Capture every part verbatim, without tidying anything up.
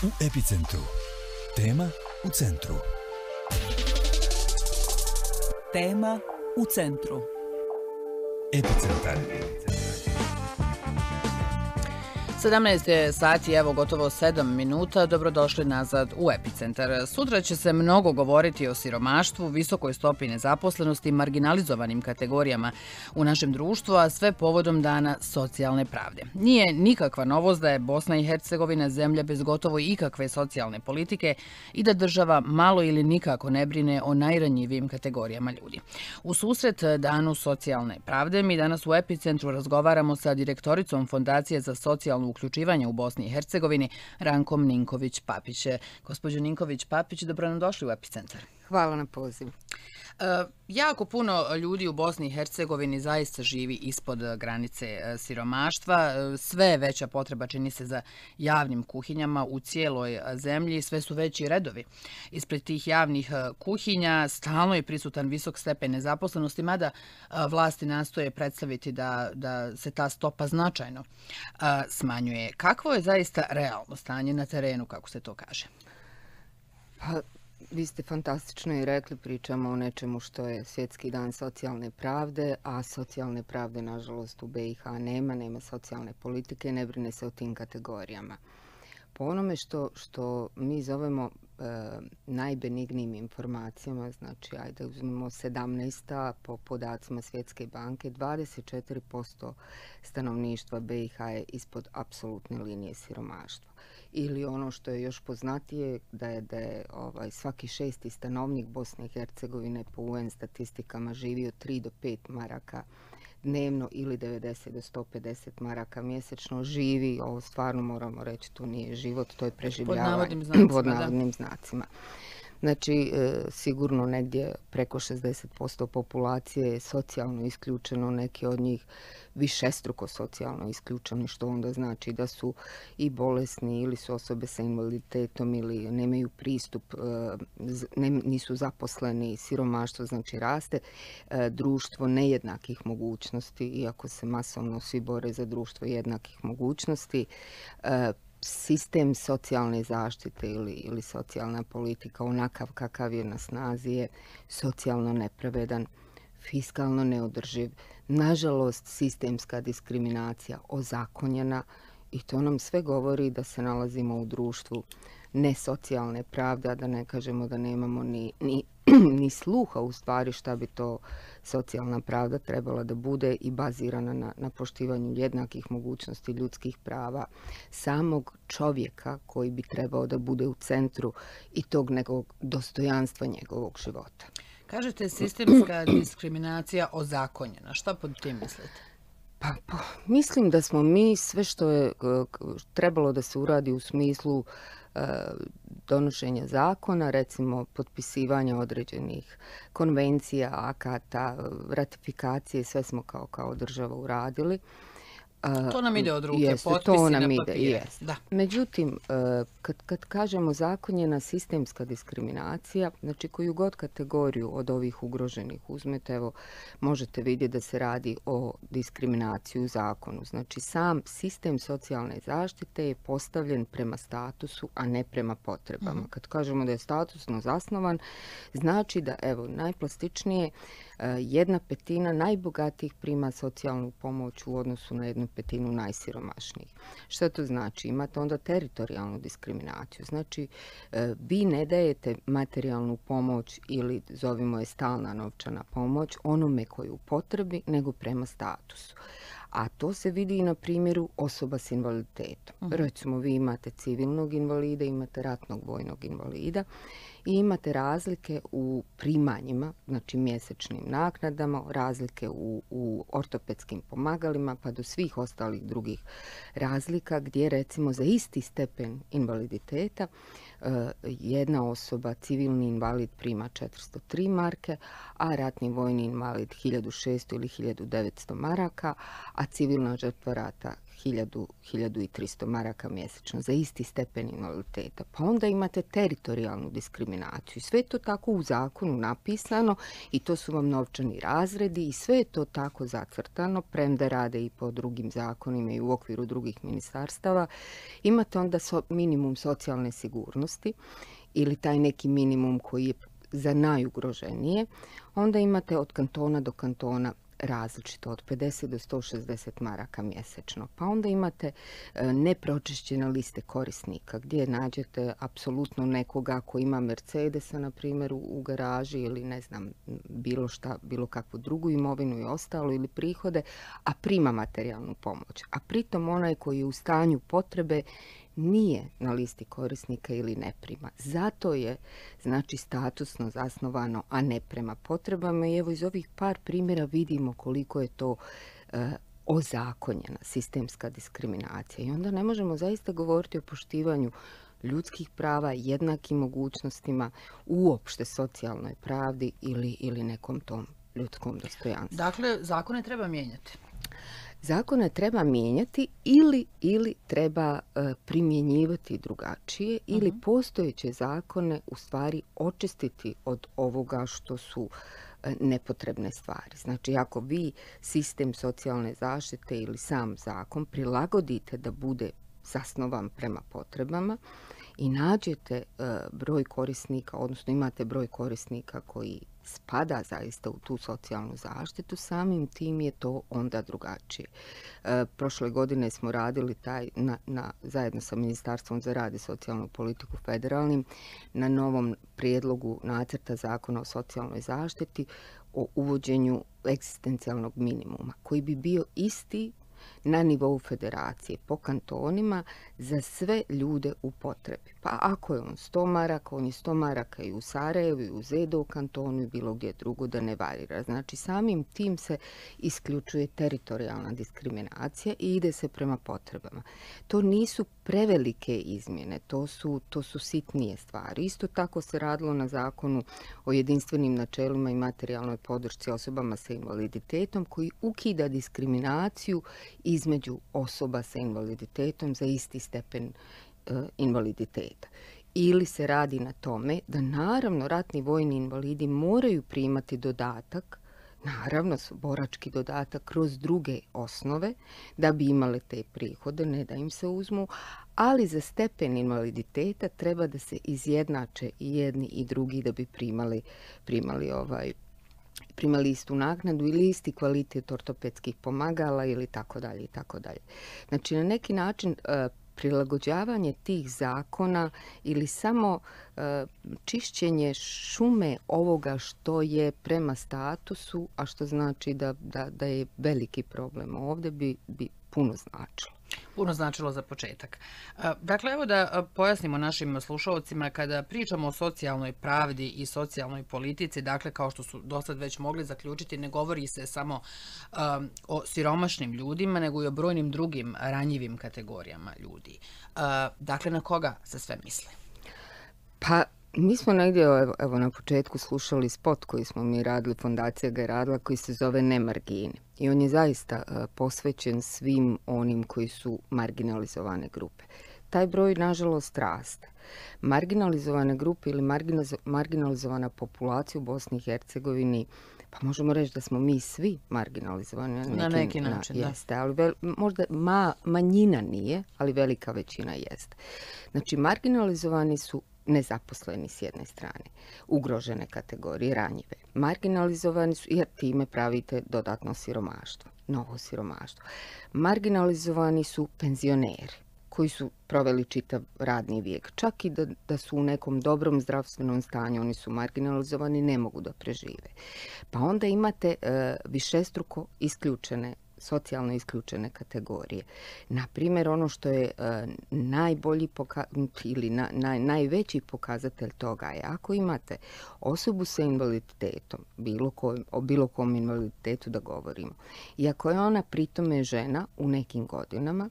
U Epicentru. Tema u centru. Tema u centru. Epicentar. sedamnaest je sati, evo gotovo sedam minuta. Dobrodošli nazad u Epicentar. Sutra će se mnogo govoriti o siromaštvu, visokoj stopi nezaposlenosti i marginalizovanim kategorijama u našem društvu, a sve povodom Dana socijalne pravde. Nije nikakva novost da je Bosna i Hercegovina zemlja bez gotovo ikakve socijalne politike i da država malo ili nikako ne brine o najranjivijim kategorijama ljudi. U susret Danu socijalne pravde mi danas u Epicentru razgovaramo sa direktoricom Fondacije za socijalnu uključivanje u Bosni i Hercegovini, Rankom Ninković-Papić. Gospođo Ninković-Papić, dobro nam došli u Epicentar. Hvala na pozivu. E, jako puno ljudi u Bosni i Hercegovini zaista živi ispod granice e, siromaštva. E, sve je veća potreba, čini se, za javnim kuhinjama u cijeloj zemlji. Sve su veći redovi ispred tih javnih e, kuhinja. Stalno je prisutan visok stepen nezaposlenosti, mada e, vlasti nastoje predstaviti da, da se ta stopa značajno e, smanjuje. Kakvo je zaista realno stanje na terenu, kako se to kaže? Pa, vi ste fantastično i rekli, pričamo o nečemu što je Svjetski dan socijalne pravde, a socijalne pravde, nažalost, u be i ha nema, nema socijalne politike, ne brine se o tim kategorijama. Po onome što, što mi zovemo e, najbenignijim informacijama, znači, ajde uzmemo sedamnaesta po podacima Svjetske banke, dvadeset četiri posto stanovništva be i ha je ispod apsolutne linije siromaštva. Ili ono što je još poznatije, da je, da je ovaj, svaki šesti stanovnik Bosne i Hercegovine po u en statistikama živi od tri do pet maraka dnevno ili devedeset do sto pedeset maraka mjesečno. Živi, ovo stvarno moramo reći, to nije život, to je preživljavanje. Pod navodnim znacima. Pod navodnim znacima. Znači, e, sigurno negdje preko šezdeset posto populacije je socijalno isključeno, neki od njih višestruko socijalno isključeni, što onda znači da su i bolesni ili su osobe sa invaliditetom ili nemaju pristup, e, ne, nisu zaposleni, siromaštvo znači raste, e, društvo nejednakih mogućnosti, iako se masovno svi bore za društvo jednakih mogućnosti, e, sistem socijalne zaštite ili, ili socijalna politika onakav kakav je na snazi je socijalno nepravedan, fiskalno neodrživ, nažalost sistemska diskriminacija ozakonjena i to nam sve govori da se nalazimo u društvu nesocijalne pravde, a da ne kažemo da nemamo ni, ni, ni sluha u stvari šta bi to socijalna pravda trebala da bude i bazirana na, na poštivanju jednakih mogućnosti ljudskih prava samog čovjeka koji bi trebao da bude u centru i tog nekog dostojanstva njegovog života. Kažete sistemska diskriminacija ozakonjena. Šta pod tim mislite? Pa, pa, mislim da smo mi sve što je trebalo da se uradi u smislu e, donošenja zakona, recimo potpisivanja određenih konvencija, akata, ratifikacije, sve smo kao, kao država uradili. To nam ide od ruke, jeste, potpisi to nam na ide, papire. jest. Da. Međutim, kad, kad kažemo zakonjena sistemska diskriminacija, znači koju god kategoriju od ovih ugroženih uzmete, evo, možete vidjeti da se radi o diskriminaciji u zakonu. Znači, sam sistem socijalne zaštite je postavljen prema statusu, a ne prema potrebama. Mm-hmm. Kad kažemo da je statusno zasnovan, znači da, evo, najplastičnije, jedna petina najbogatijih prima socijalnu pomoć u odnosu na jednu petinu najsiromašnijih. Što to znači? Imate onda teritorijalnu diskriminaciju. Znači, vi ne dajete materijalnu pomoć ili zovimo je stalna novčana pomoć onome koji u potrebi, nego prema statusu. A to se vidi i na primjeru osoba s invaliditetom. Uh-huh. Recimo, vi imate civilnog invalida, imate ratnog vojnog invalida i imate razlike u primanjima, znači mjesečnim naknadama, razlike u, u ortopedskim pomagalima, pa do svih ostalih drugih razlika gdje recimo za isti stepen invaliditeta jedna osoba, civilni invalid, prima četiristo tri marke, a ratni vojni invalid hiljadu šesto ili hiljadu devetsto maraka, a civilna žrtva rata hiljadu, hiljadu tristo maraka mjesečno za isti stepen invaliditeta. Pa onda imate teritorijalnu diskriminaciju. Sve je to tako u zakonu napisano i to su vam novčani razredi i sve je to tako zacrtano, premda rade i po drugim zakonima i u okviru drugih ministarstava. Imate onda so, minimum socijalne sigurnosti ili taj neki minimum koji je za najugroženije. Onda imate od kantona do kantona različito, od pedeset do sto šezdeset maraka mjesečno. Pa onda imate e, nepročišćene liste korisnika gdje nađete apsolutno nekoga ko ima Mercedesa, na primjer, u, u garaži ili ne znam, bilo šta, bilo kakvu drugu imovinu i ostalo ili prihode, a prima materijalnu pomoć. A pritom onaj koji je u stanju potrebe nije na listi korisnika ili ne prima. Zato je, znači, statusno zasnovano, a ne prema potrebama. I evo iz ovih par primjera vidimo koliko je to e, ozakonjena sistemska diskriminacija. I onda ne možemo zaista govoriti o poštivanju ljudskih prava, jednakim mogućnostima, uopšte socijalnoj pravdi ili, ili nekom tom ljudskom dostojanstvu. Dakle, zakone treba mijenjati. Zakone treba mijenjati ili, ili treba e, primjenjivati drugačije uh-huh. ili postojeće zakone u stvari očistiti od ovoga što su e, nepotrebne stvari. Znači, ako vi sistem socijalne zaštite ili sam zakon prilagodite da bude zasnovan prema potrebama i nađete e, broj korisnika, odnosno imate broj korisnika koji spada zaista u tu socijalnu zaštitu, samim tim je to onda drugačije. E, prošle godine smo radili taj, na, na, zajedno sa Ministarstvom za rad i socijalnu politiku federalnim na novom prijedlogu nacrta zakona o socijalnoj zaštiti o uvođenju egzistencijalnog minimuma, koji bi bio isti na nivou federacije po kantonima za sve ljude u potrebi. Pa ako je on sto maraka, on je sto maraka i u Sarajevu, i u Zedo u kantonu i bilo gdje drugo, da ne varira. Znači, samim tim se isključuje teritorijalna diskriminacija i ide se prema potrebama. To nisu prevelike izmjene, to su, to su sitnije stvari. Isto tako se radilo na zakonu o jedinstvenim načelima i materijalnoj podršci osobama sa invaliditetom, koji ukida diskriminaciju između osoba sa invaliditetom za isti stepen e, invaliditeta. Ili se radi na tome da naravno ratni vojni invalidi moraju primati dodatak, naravno borački dodatak kroz druge osnove da bi imale te prihode, ne da im se uzmu, ali za stepen invaliditeta treba da se izjednače i jedni i drugi da bi primali, primali ovaj primali istu naknadu ili isti kvalitet ortopedskih pomagala ili tako dalje i tako dalje. Znači, na neki način e, prilagođavanje tih zakona ili samo e, čišćenje šume ovoga što je prema statusu, a što znači da, da, da je veliki problem ovdje, bi, bi puno značilo. Puno značilo za početak. Dakle, evo da pojasnimo našim slušalcima, kada pričamo o socijalnoj pravdi i socijalnoj politici, dakle, kao što su dosad već mogli zaključiti, ne govori se samo um, o siromašnim ljudima, nego i o brojnim drugim ranjivim kategorijama ljudi. Uh, dakle, na koga se sve misli? Pa, mi smo negdje, evo, evo na početku slušali spot koji smo mi radili, fondacija ga je radila, koji se zove Ne margine. I on je zaista uh, posvećen svim onim koji su marginalizovane grupe. Taj broj, nažalost, raste. Marginalizovane grupe ili marginalizovana populacija u Bosni i Hercegovini, pa možemo reći da smo mi svi marginalizovani. Na neki, na neki način, na, da. Jeste, ali vel, možda ma, manjina nije, ali velika većina jeste. Znači, marginalizovani su nezaposleni s jedne strane, ugrožene kategorije, ranjive. Marginalizovani su, jer time pravite dodatno siromaštvo, novo siromaštvo. Marginalizovani su penzioneri koji su proveli čitav radni vijek. Čak i da, da su u nekom dobrom zdravstvenom stanju, oni su marginalizovani, ne mogu da prežive. Pa onda imate e, višestruko isključene, socijalno isključene kategorije. Na primjer, ono što je e, najbolji poka- ili na, naj, najveći pokazatelj toga je ako imate osobu sa invaliditetom, bilo kojim, o bilo kom invaliditetu da govorimo, i ako je ona pritome žena u nekim godinama,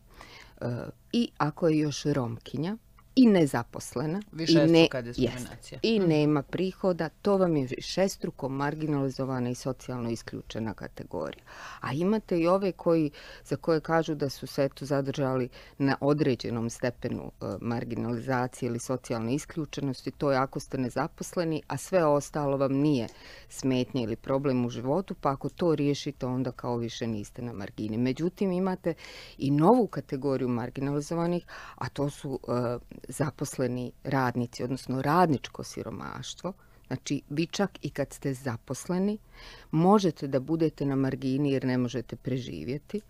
e, i ako je još Romkinja, i nezaposlena Višestruka i, ne, diskriminacija. jest, i mm. nema prihoda, to vam je višestruko marginalizovana i socijalno isključena kategorija. A imate i ove koji, za koje kažu da su se eto zadržali na određenom stepenu e, marginalizacije ili socijalne isključenosti, to je ako ste nezaposleni, a sve ostalo vam nije smetnja ili problem u životu, pa ako to riješite, onda kao više niste na margini. Međutim, imate i novu kategoriju marginalizovanih, a to su e, zaposleni radnici, odnosno radničko siromaštvo. Znači, vi čak i kad ste zaposleni, možete da budete na margini jer ne možete preživjeti.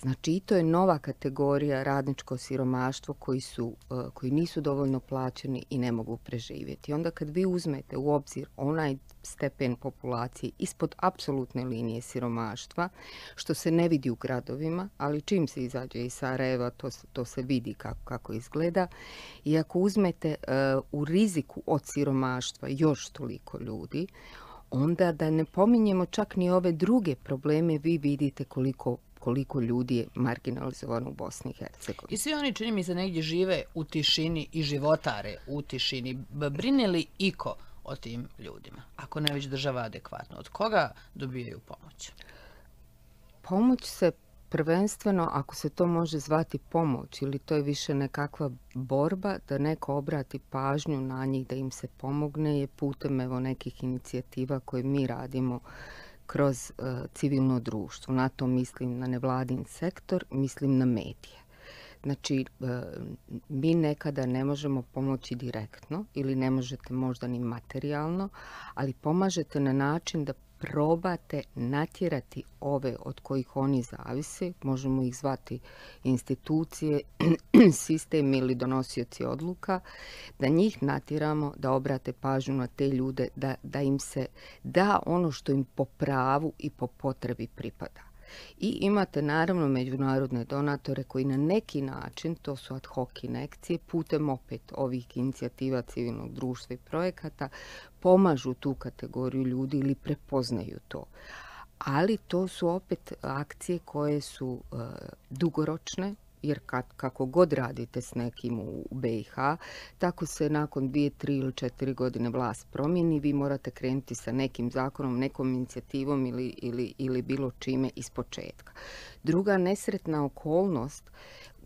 Znači, i to je nova kategorija radničko siromaštvo koji, su, koji nisu dovoljno plaćeni i ne mogu preživjeti. Onda kad vi uzmete u obzir onaj stepen populacije ispod apsolutne linije siromaštva, što se ne vidi u gradovima, ali čim se izađe iz Sarajeva, to, to se vidi kako, kako izgleda. I ako uzmete uh, u riziku od siromaštva još toliko ljudi, onda da ne pominjemo čak ni ove druge probleme, vi vidite koliko koliko ljudi je marginalizovano u Bosni i Hercegovini. I svi oni, čini mi se, negdje žive u tišini i životare u tišini. Brine li iko o tim ljudima, ako ne već država adekvatno? Od koga dobijaju pomoć? Pomoć se prvenstveno, ako se to može zvati pomoć, ili to je više nekakva borba da neko obrati pažnju na njih, da im se pomogne, je putem evo nekih inicijativa koje mi radimo kroz uh, civilno društvo. Na to mislim na nevladin sektor, mislim na medije. Znači, uh, mi nekada ne možemo pomoći direktno ili ne možete možda ni materijalno, ali pomažete na način da probate natjerati ove od kojih oni zavise, možemo ih zvati institucije, sistem ili donosioci odluka, da njih natjeramo da obrate pažnju na te ljude, da, da im se da ono što im po pravu i po potrebi pripada. I imate naravno međunarodne donatore koji na neki način, to su ad hoc injekcije, putem opet ovih inicijativa civilnog društva i projekata, pomažu tu kategoriju ljudi ili prepoznaju to. Ali to su opet akcije koje su uh, dugoročne, jer kad, kako god radite s nekim u be i ha, tako se nakon dvije, tri ili četiri godine vlast promijeni, vi morate krenuti sa nekim zakonom, nekom inicijativom ili, ili, ili bilo čime iz početka. Druga nesretna okolnost,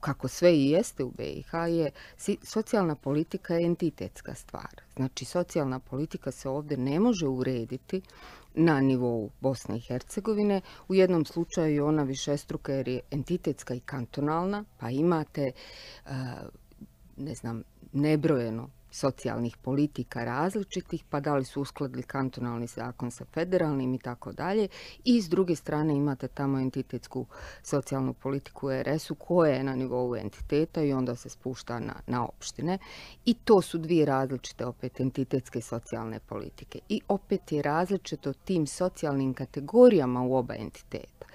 kako sve i jeste u be i ha, je socijalna politika je entitetska stvar. Znači, socijalna politika se ovdje ne može urediti na nivou Bosne i Hercegovine. U jednom slučaju je ona višestruka jer je entitetska i kantonalna, pa imate, ne znam, nebrojeno socijalnih politika različitih, pa da li su uskladili kantonalni zakon sa federalnim i tako dalje. I s druge strane imate tamo entitetsku socijalnu politiku u er es-u koja je na nivou entiteta i onda se spušta na, na opštine. I to su dvije različite opet entitetske socijalne politike. I opet je različito tim socijalnim kategorijama u oba entiteta.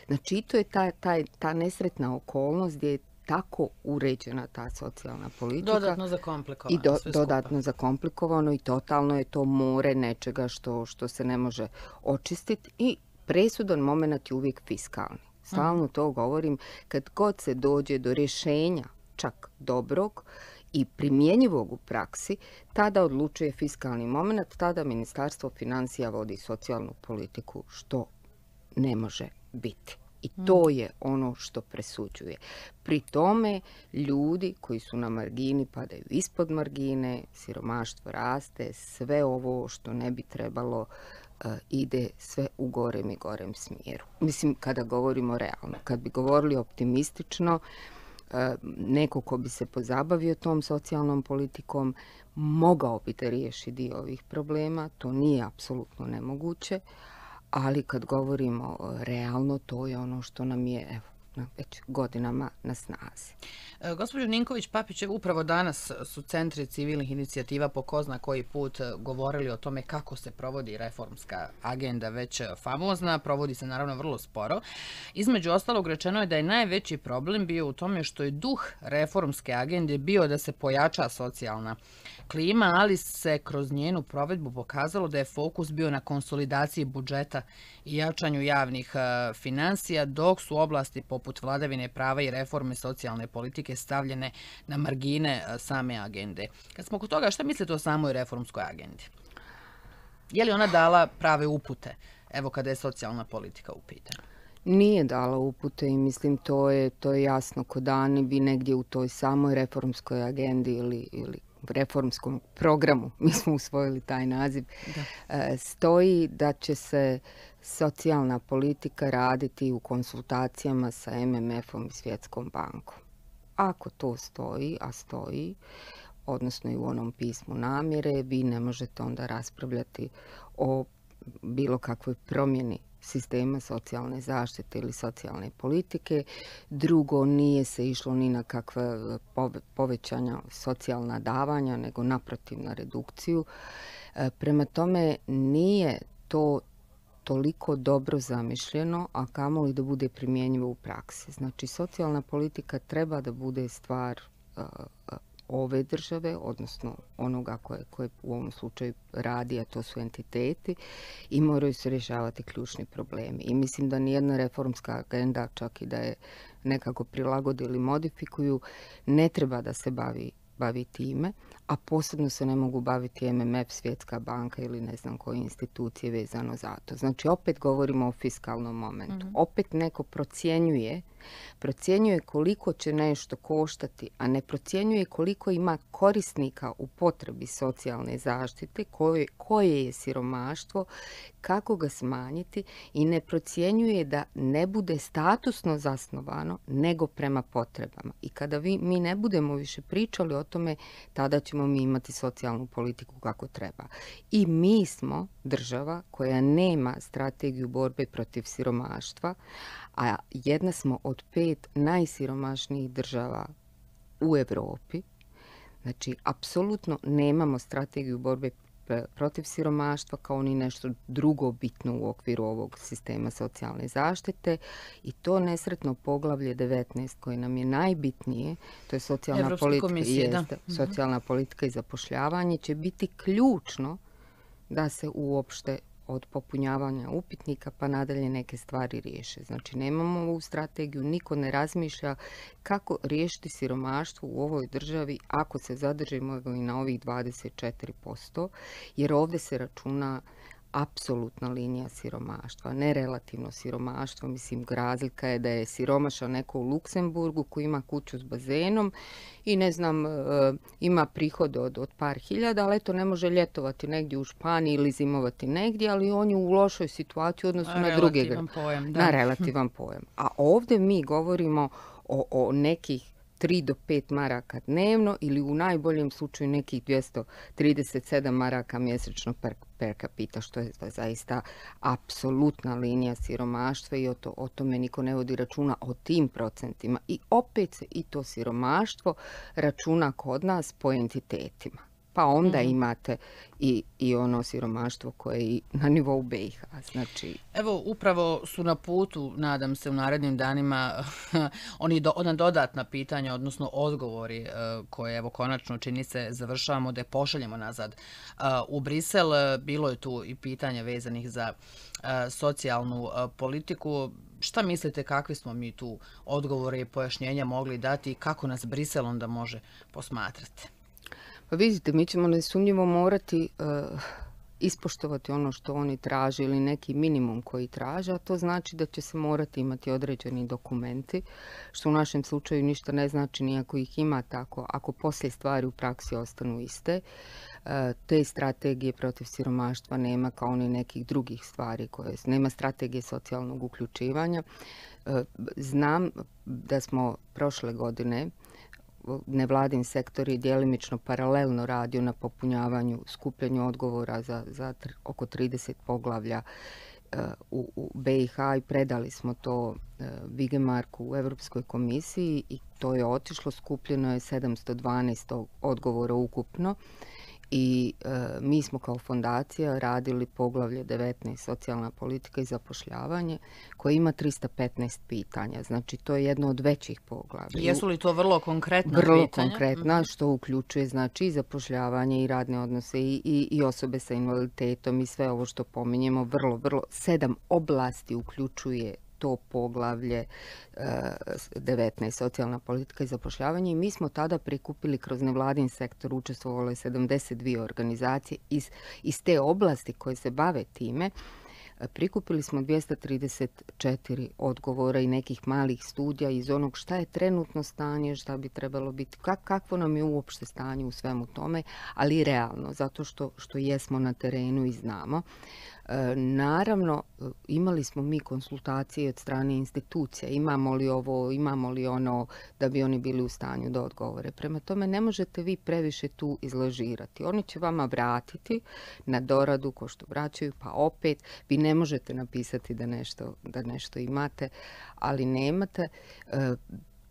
Znači, to je ta, ta, ta nesretna okolnost gdje je tako uređena ta socijalna politika. Dodatno zakomplikovano. I do, dodatno zakomplikovano i totalno je to more nečega što, što se ne može očistiti i presudan moment je uvijek fiskalni. Stalno to govorim, kad god se dođe do rješenja čak dobrog i primjenjivog u praksi, tada odlučuje fiskalni moment, tada Ministarstvo financija vodi socijalnu politiku, što ne može biti. I to je ono što presuđuje. Pri tome ljudi koji su na margini padaju ispod margine, siromaštvo raste, sve ovo što ne bi trebalo uh, ide sve u gorem i gorem smjeru. Mislim, kada govorimo realno, kad bi govorili optimistično, uh, neko ko bi se pozabavio tom socijalnom politikom mogao bi da riješi dio ovih problema, to nije apsolutno nemoguće. Ali kad govorimo realno, to je ono što nam je evo, već godinama na snazi. E, gospođo Ninković-Papić, upravo danas su centri civilnih inicijativa po ko zna koji put govorili o tome kako se provodi reformska agenda, već famozna, provodi se naravno vrlo sporo. Između ostalog rečeno je da je najveći problem bio u tome što je duh reformske agende bio da se pojača socijalna klima, ali se kroz njenu provedbu pokazalo da je fokus bio na konsolidaciji budžeta i jačanju javnih financija, dok su oblasti poput poput vladavine prava i reforme socijalne politike stavljene na margine same agende. Kad smo kod toga, šta mislite o samoj reformskoj agendi? Je li ona dala prave upute, evo kada je socijalna politika u pitanju? Nije dala upute i mislim to je, to je jasno ko dan. Vi negdje u toj samoj reformskoj agendi ili, ili reformskom programu, mi smo usvojili taj naziv, da. stoji da će se socijalna politika raditi u konsultacijama sa M M F-om i Svjetskom bankom. Ako to stoji, a stoji, odnosno i u onom pismu namjere, vi ne možete onda raspravljati o bilo kakvoj promjeni sistema socijalne zaštite ili socijalne politike. Drugo, nije se išlo ni na kakva povećanja socijalna davanja, nego naprotiv na redukciju. Prema tome, nije to toliko dobro zamišljeno, a kamoli da bude primjenjivo u praksi. Znači, socijalna politika treba da bude stvar uh, ove države, odnosno onoga koje, koje u ovom slučaju radi, a to su entiteti, i moraju se rješavati ključni problemi. I mislim da nijedna reformska agenda, čak i da je nekako prilagode ili modifikuju, ne treba da se bavi bavi time, a posebno se ne mogu baviti M M F, Svjetska banka ili ne znam koje institucije vezano za to. Znači, opet govorimo o fiskalnom momentu. Mm-hmm. Opet neko procjenjuje, procjenjuje koliko će nešto koštati, a ne procjenjuje koliko ima korisnika u potrebi socijalne zaštite, koje, koje je siromaštvo, kako ga smanjiti, i ne procjenjuje da ne bude statusno zasnovano, nego prema potrebama. I kada vi, mi ne budemo više pričali o tome, tada ćemo mi imati socijalnu politiku kako treba. I mi smo država koja nema strategiju borbe protiv siromaštva, a jedna smo od pet najsiromašnijih država u Europi. Znači, apsolutno nemamo strategiju borbe protiv siromaštva kao ni nešto drugo bitno u okviru ovog sistema socijalne zaštite, i to nesretno poglavlje devetnaest koje nam je najbitnije, to je socijalna politika, jeste, socijalna politika i zapošljavanje, će biti ključno da se uopšte od popunjavanja upitnika pa nadalje neke stvari riješe. Znači, nemamo ovu strategiju, niko ne razmišlja kako riješiti siromaštvo u ovoj državi ako se zadržimo i na ovih dvadeset četiri posto, jer ovdje se računa apsolutna linija siromaštva, ne relativno siromaštvo. Mislim, razlika je da je siromašan neko u Luksemburgu koji ima kuću s bazenom i ne znam, ima prihod od, od par hiljada, ali eto ne može ljetovati negdje u Španiji ili zimovati negdje, ali on je u lošoj situaciji u odnosu na druge. Relativan pojam, da. Na relativan pojam. A ovdje mi govorimo o, o nekih tri do pet maraka dnevno ili u najboljem slučaju nekih dvjesto trideset sedam maraka mjesečno per, per capita, što je zaista apsolutna linija siromaštva, i o, to, o tome niko ne vodi računa, o tim procentima. I opet se i to siromaštvo računa kod nas po entitetima. Pa onda mm-hmm. imate i, i ono siromaštvo koje je na nivou B i H. Znači... Evo, upravo su na putu, nadam se, u narednim danima oni do, ona dodatna pitanja, odnosno odgovori koje, evo, konačno čini se završavamo da je pošaljemo nazad u Brisel. Bilo je tu i pitanja vezanih za socijalnu politiku. Šta mislite, kakvi smo mi tu odgovore i pojašnjenja mogli dati i kako nas Brisel onda može posmatrati? Pa vidite, mi ćemo nesumnjivo morati uh, ispoštovati ono što oni traže ili neki minimum koji traže, a to znači da će se morati imati određeni dokumenti, što u našem slučaju ništa ne znači ni ako ih ima tako, ako poslije stvari u praksi ostanu iste. Uh, te strategije protiv siromaštva nema, kao ni nekih drugih stvari koje nema, strategije socijalnog uključivanja. Uh, znam da smo prošle godine nevladin sektor je djelimično paralelno radio na popunjavanju, skupljanju odgovora za, za tr, oko trideset poglavlja uh, u, u B i H, i predali smo to uh, Vigemarku u Europskoj komisiji, i to je otišlo, skupljeno je sedamsto dvanaest odgovora ukupno. I e, mi smo kao fondacija radili poglavlje devetnaest, socijalna politika i zapošljavanje, koje ima trista petnaest pitanja. Znači, to je jedno od većih poglavlja. Jesu li to vrlo konkretna vrlo pitanja? Vrlo konkretna, mm-hmm. što uključuje, znači, i zapošljavanje i radne odnose i, i, i osobe sa invaliditetom i sve ovo što pominjemo. Vrlo, vrlo, sedam oblasti uključuje to poglavlje devetnaest, socijalna politika i zapošljavanje. I mi smo tada prikupili kroz nevladin sektor, učestvovalo je sedamdeset dvije organizacije iz, iz te oblasti koje se bave time. Prikupili smo dvjesto trideset četiri odgovora i nekih malih studija iz onog šta je trenutno stanje, šta bi trebalo biti, kak, kakvo nam je uopšte stanje u svemu tome, ali i realno, zato što, što jesmo na terenu i znamo. E, naravno, imali smo mi konsultacije od strane institucija, imamo li ovo, imamo li ono, da bi oni bili u stanju da odgovore. Prema tome, ne možete vi previše tu izlažirati. Oni će vama vratiti na doradu, ko što vraćaju, pa opet, vi ne možete napisati da nešto, da nešto imate, ali nemate. E,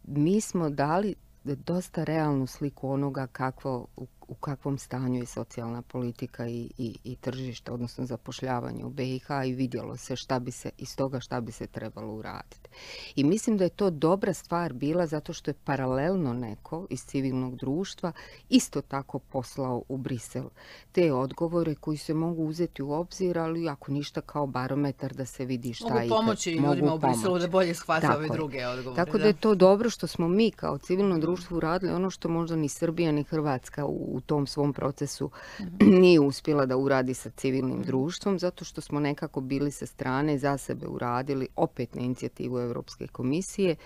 mi smo dali dosta realnu sliku onoga kakvo, u, u kakvom stanju je socijalna politika i, i, i tržište, odnosno zapošljavanje u B i H i vidjelo se šta bi se iz toga šta bi se trebalo uraditi. I mislim da je to dobra stvar bila zato što je paralelno neko iz civilnog društva isto tako poslao u Brisel te odgovore koji se mogu uzeti u obzir, ali ako ništa kao barometar da se vidi šta mogu i pomoći ljudima u Briselu da bolje shvate ove druge odgovore. Tako da je to dobro što smo mi kao civilno društvo uradili ono što možda ni Srbija ni Hrvatska u, u tom svom procesu mm-hmm. nije uspjela da uradi sa civilnim mm-hmm. društvom, zato što smo nekako bili sa strane za sebe uradili opet na inicijativu Europske komisije.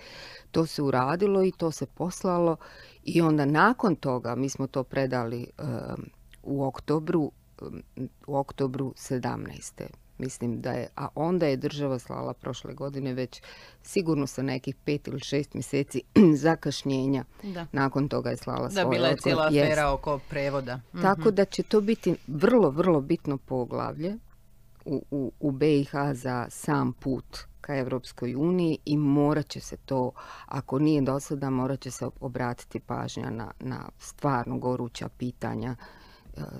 To se uradilo i to se poslalo i onda nakon toga mi smo to predali um, u oktobru, um, u oktobru sedamnaeste. Mislim da je, a onda je država slala prošle godine već sigurno sa nekih pet ili šest mjeseci zakašnjenja. Da. Nakon toga je slala svoje odgovor. Da, bila je cijela afera yes. oko prevoda. Tako mm-hmm. da će to biti vrlo, vrlo bitno poglavlje u, u, u B i H za sam put ka Evropskoj uniji i morat će se to, ako nije do sada, morat će se obratiti pažnja na, na stvarno goruća pitanja,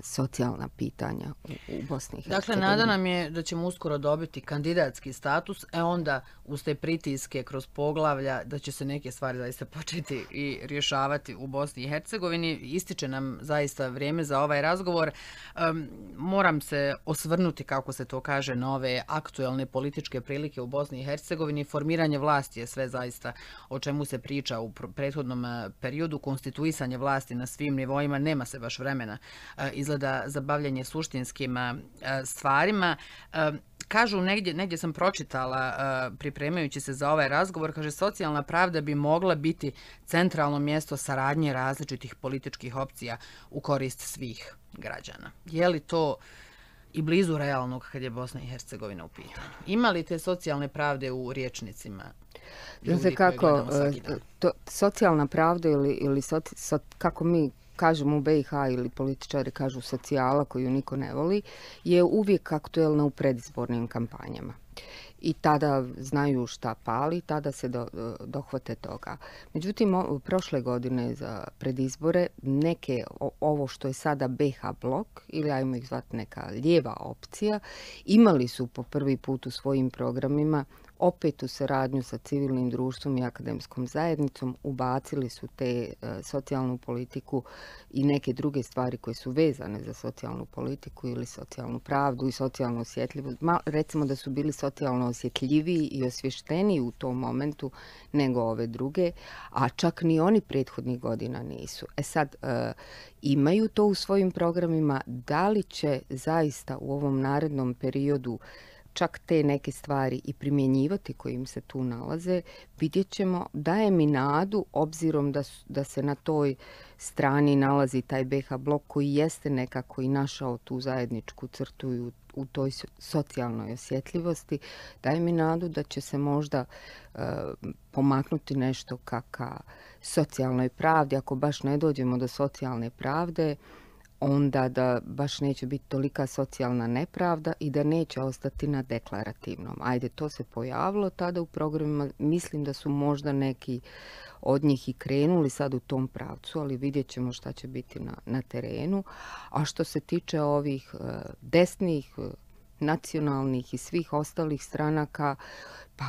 socijalna pitanja u, u Bosni i Hercegovini. Dakle, nada nam je da ćemo uskoro dobiti kandidatski status, e onda uz te pritiske kroz poglavlja da će se neke stvari zaista početi i rješavati u Bosni i Hercegovini. Ističe nam zaista vrijeme za ovaj razgovor. Um, moram se osvrnuti, kako se to kaže, na ove aktuelne političke prilike u Bosni i Hercegovini. Formiranje vlasti je sve zaista o čemu se priča u prethodnom periodu. Konstituisanje vlasti na svim nivoima, nema se baš vremena izgleda za bavljanje suštinskim stvarima. Kažu, negdje, negdje sam pročitala, pripremajući se za ovaj razgovor, kaže, socijalna pravda bi mogla biti centralno mjesto saradnje različitih političkih opcija u korist svih građana. Je li to i blizu realnog kad je Bosna i Hercegovina u pitanju? Ima li te socijalne pravde u rječnicima ljudi koje gledamo svaki dan? To, socijalna pravda ili, ili soci, so, kako mi kažemo u B i H ili političari kažu socijala koju niko ne voli, je uvijek aktuelna u predizbornim kampanjama. I tada znaju šta pali, tada se do, dohvate toga. Međutim, o, prošle godine za predizbore neke, o, ovo što je sada B H blok, ili ajmo ih zvati neka lijeva opcija, imali su po prvi put u svojim programima opet u saradnju sa civilnim društvom i akademskom zajednicom ubacili su te uh, socijalnu politiku i neke druge stvari koje su vezane za socijalnu politiku ili socijalnu pravdu i socijalnu osjetljivost. Ma, recimo da su bili socijalno osjetljiviji i osvješteniji u tom momentu nego ove druge, a čak ni oni prethodnih godina nisu. E sad, uh, imaju to u svojim programima, da li će zaista u ovom narednom periodu čak te neke stvari i primjenjivati koji im se tu nalaze, vidjet ćemo. Daje mi nadu, obzirom da, da se na toj strani nalazi taj B H blok koji jeste nekako i našao tu zajedničku crtu i u, u toj socijalnoj osjetljivosti, daje mi nadu da će se možda uh, pomaknuti nešto ka, ka socijalnoj pravdi. Ako baš ne dođemo do socijalne pravde, onda da baš neće biti tolika socijalna nepravda i da neće ostati na deklarativnom. Ajde, to se pojavilo tada u programima. Mislim da su možda neki od njih i krenuli sad u tom pravcu, ali vidjet ćemo šta će biti na, na terenu. A što se tiče ovih uh, desnih uh, nacionalnih i svih ostalih stranaka, pa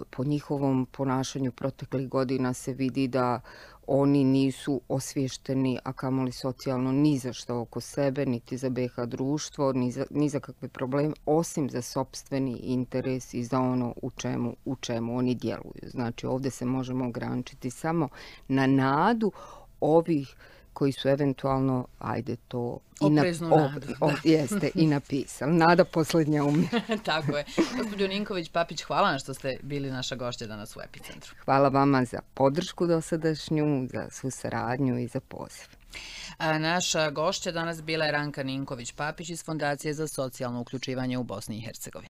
po njihovom ponašanju proteklih godina se vidi da oni nisu osvješteni, a kamoli socijalno, ni za što oko sebe, niti za be ha društvo, ni za, ni za kakve probleme, osim za sopstveni interes i za ono u čemu, u čemu oni djeluju. Znači, ovdje se možemo ograničiti samo na nadu ovih koji su eventualno, ajde to... Opreznu na, nadu. O, o, jeste, i napisali. Nada posljednja umre. Tako je. Gospođo Ninković-Papić, hvala vam što ste bili naša gošća danas u Epicentru. Hvala vama za podršku dosadašnju, za svu saradnju i za poziv. A naša gošća danas bila je Ranka Ninković-Papić iz Fondacije za socijalno uključivanje u Bosni i Hercegovini.